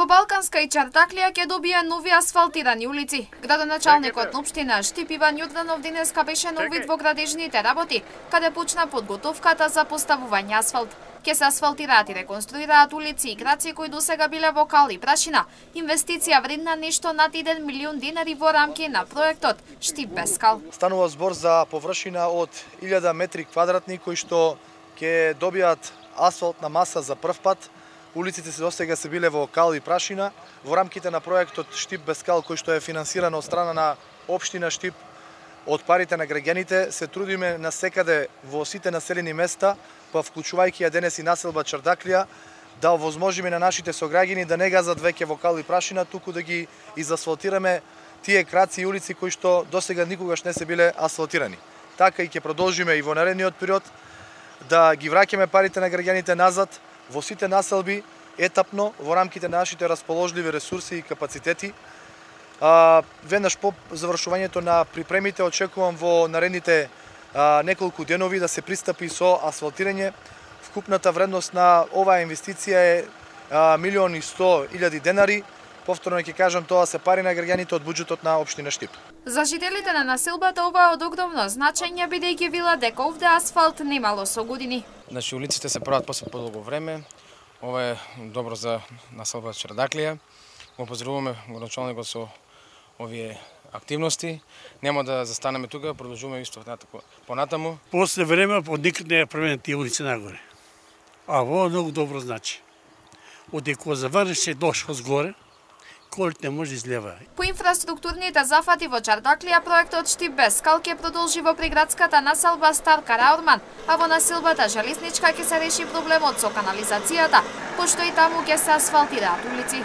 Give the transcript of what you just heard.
Балканска и Чардаклија ќе добија нови асфалтирани улици. Градоначалникот на општина Штип Иван Јорданов денеска беше на увид во градежните работи, каде почна подготовката за поставување асфалт. Ке се асфалтираат и реконструираат улици и краци кои досега биле во кал и прашина. Инвестиција вредна нешто над 1 милион денари во рамки на проектот Штип без кал. Станува збор за површина од 1000 метри квадратни кои што ќе добијат асфалтна маса за прв пат. Улиците се досега се биле во кал и прашина. Во рамките на проектот Штип без кал, кој што е финансиран од страна на општина Штип од парите на граѓаните, се трудиме на секаде во сите населени места, па вклучувајќи ја денес и населба Чардаклија, да овозможиме на нашите сограѓани да не газат веќе во кал и прашина, туку да ги изасфалтираме тие краци и улици кои што досега никогаш не се биле асфалтирани. Така и ќе продолжиме и во наредниот период да ги враќаме парите на граѓаните назад во сите населби, етапно, во рамките на нашите расположливи ресурси и капацитети. Веднаш по завршувањето на припремите очекувам во наредните неколку денови да се пристапи со асфалтирање. Вкупната вредност на оваа инвестиција е 1.100.000 денари. Повторно ќе кажам, тоа се пари на граѓаните од буџетот на општина Штип. За жителите на населбата ова е од огромно значење, бидејќи вела дека овде асфалт немало со години. Значи улиците се прават после подолго време. Ова е добро за населбата Чардаклија. Го поздравуваме градоначалникот со овие активности. Нема да застанеме тука, продолжуваме исто понатаму. После време од никад не ја променет тие улици нагоре. А во многу добро значи. Одеко заврши дошол згоре, колите не може излева. По инфраструктурните зафати во Чардаклија, проектот Штип без кал ќе продолжи во приградската населба Стар Караорман, а во населбата Железничка ќе се реши проблемот со канализацијата, пошто и таму ќе се асфалтираат улици.